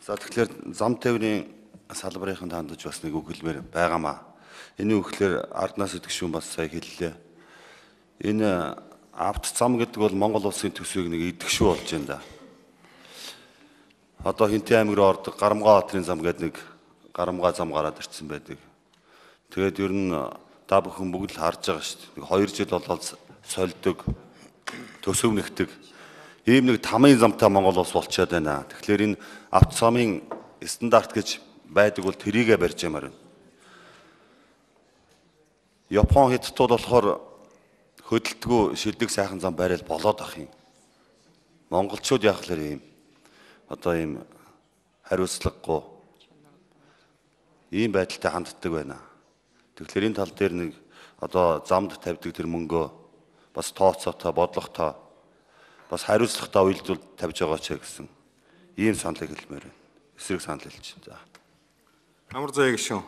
За тэгэхээр зам тээврийн салбарын хандаж бас нэг үг хэлмээр байгаамаа. Энэ үг хэлээр арднаас идэх шүүн бас сая хэллээ. Энэ авто зам гэдэг бол Монгол улсын төсвийг нэг идэх шүү болж байна да. Одоо Хинтээ аймаг руу ордог Гарамгаа хотрын зам гэдэг нэг Гарамгаа зам гараад ирсэн байдаг. Тэгээд ер нь та бүхэн бүгд л харж байгаа шүү дээ. 2 жил болоод сольдог, төсөвнөгдөг. Ийм нэг тамийн замтай Монгол улс болчиход байна. Тэгэхээр энэ авто замын стандарт гэж байдаг бол тэрийгэ барьж ямаар байна. Япон Хятадууд болохоор хөдөлтгөө шилдэг сайхан зам барайл болоод ах юм. Монголчууд яг л ийм одоо ийм хариуцлагагүй ийм байдалтай ханддаг байна. Тэгэхээр энэ тал дээр нэг одоо замд тавьдаг тэр мөнгөө бас тооцоотой, бодлоготой бас хариуцлагатай уялдвал тавьж байгаа ч гэсэн ийм саналыг хэлмээр байна. Эсрэг санал хэлж. За. Амар заяа гişүн.